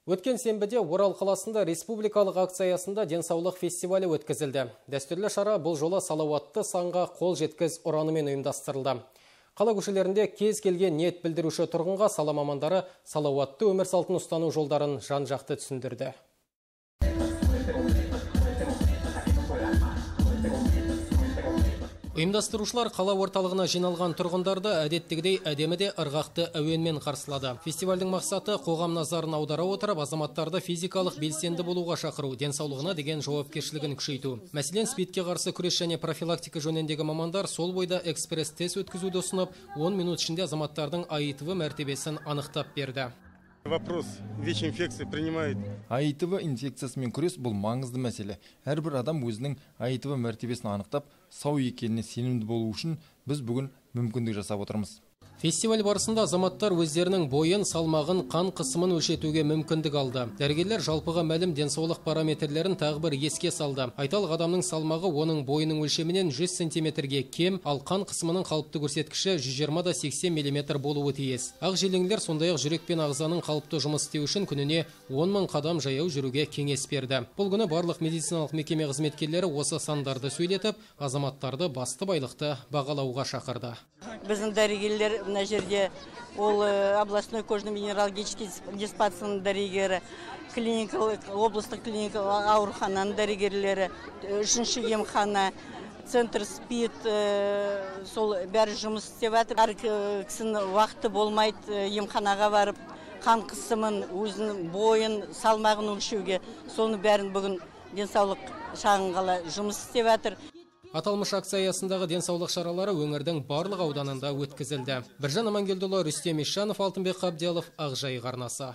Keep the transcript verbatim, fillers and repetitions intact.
Өткен сенбіде Орал қаласында республикалық акция аясында денсаулық фестивалі өткізілді. Дәстүрлі шара бұл жолы салауатты санға қол жеткіз ұранымен ұйымдастырылды. Қала көшелерінде кез келген ниет білдіруші тұрғынға сала мамандары салауатты өмір салтын ұстану жолдарын жан-жақты түсіндірді. Ұйымдастырушылар қала орталығына жиналған тұрғындарды әдеттегідей әдеміде ырғақты әуенмен қарсылады. Фестивальдің мақсаты қоғам назарын аудара отырып, азаматтарды физикалық белсенді болуға шақыру, денсаулығына деген жауапкершілігін күшейту. Мәселен, спидке қарсы күрес және профилактика жөніндегі мамандар сол бойда экспресс-тест өткізуді ұсынып, он минут ішінде азаматтардың АИТВ мәртебесін анықтап берді. Вопрос ВИЧ-инфекции принимает. АИТВ инфекциясымен күрес бұл маңызды мәселе. Әрбір адам өзінің АИТВ мәртебесін анықтап, сау екеніне сенімді болу үшін біз бүгін мүмкіндік жасап отырмыз. Фестиваль барысында азаматтар өздерінің бойын, салмағын, қан қысымын өлшетуге мүмкіндік алды. Дәрігерлер жалпыға мәлім денсаулық параметрлерін тағы бір еске салды. Айталық адамның салмағы оның бойының өлшемінен жүз сантиметрге кем, ал қан қысымының қалыпты көрсеткіші жүз жиырма да сексен миллиметр болуы тиіс. Ақ желеңдер сондай-ақ жүрек пен ағзаның қалыпты жұмыс істеу үшін күніне он мың қадам жаяу жүруге кеңес берді. Бұл күні барлық медициналық мекеме қызметкерлері осы сандарды сөйлетіп, азаматтарды басты байлықты бағалауға шақырды. Біздің дәрігерлер мына жерде ол областной кожно-венерологический диспансерінің дәрігері, клиникалық, облыстық клиникалық аурухананың дәрігерлері, үшінші емхана, центр СПИД, сол бәрі жұмыс істеп жатыр. Әр кісінің уақыты болмайды емханаға барып, қан қысымын, өзінің бойын, салмағын өлшеуге. Соны бәрін бүгін денсаулық шағын қала жұмыс істеп жатыр. Аталмыш акция аясындағы денсаулық шаралары өңірдің барлық ауданында өткізілді. Біржан Амангелдіұлы, Рүстем Ишанов, Алтынбек Қабдиялов, Ақжайық арнасы.